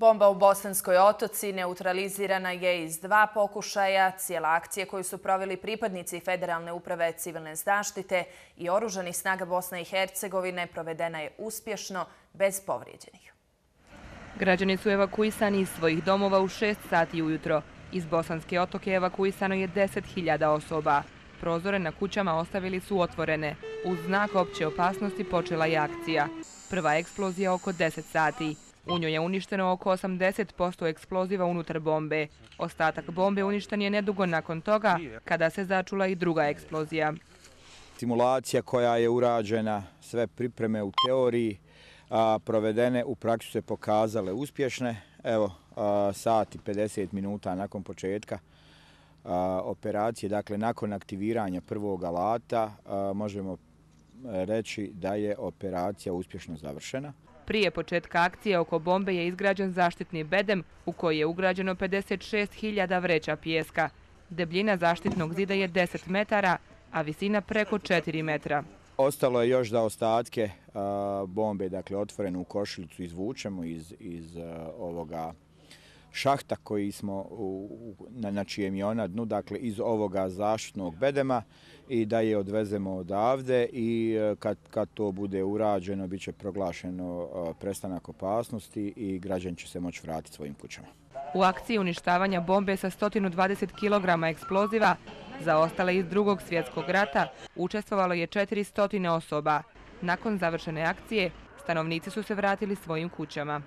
Bomba u Bosanskoj Otoci neutralizirana je iz 2 pokušaja. Cijela akcija koju su proveli pripadnici Federalne uprave civilne zaštite i oružanih snaga Bosne i Hercegovine provedena je uspješno, bez povrijeđenih. Građani su evakuisani iz svojih domova u 6 sati ujutro. Iz Bosanske Otoke evakuisano je 10.000 osoba. Prozore na kućama ostavili su otvorene. Uz znak opće opasnosti počela je akcija. Prva eksplozija oko 10 sati. U njoj je uništeno oko 80% eksploziva unutar bombe. Ostatak bombe uništen je nedugo nakon toga, kada se začula i druga eksplozija. Simulacija koja je urađena, sve pripreme u teoriji provedene u praksi se pokazale uspješne. Evo, sat i 50 minuta nakon početka operacije, dakle nakon aktiviranja prvog alata, možemo reći da je operacija uspješno završena. Prije početka akcije oko bombe je izgrađen zaštitni bedem u koji je ugrađeno 56.000 vreća pijeska. Debljina zaštitnog zida je 10 metara, a visina preko 4 metra. Ostalo je još da ostatke bombe, dakle otvorenu košuljicu, izvučemo iz ovoga šahta koji smo na čijem je ona dnu, dakle iz ovoga zaštitnog bedema, i da je odvezemo odavde, i kad to bude urađeno bit će proglašeno prestanak opasnosti i građani će se moći vratiti svojim kućama. U akciji uništavanja bombe sa 120 kg eksploziva zaostale iz Drugog svjetskog rata učestvovalo je 400 osoba. Nakon završene akcije stanovnici su se vratili svojim kućama.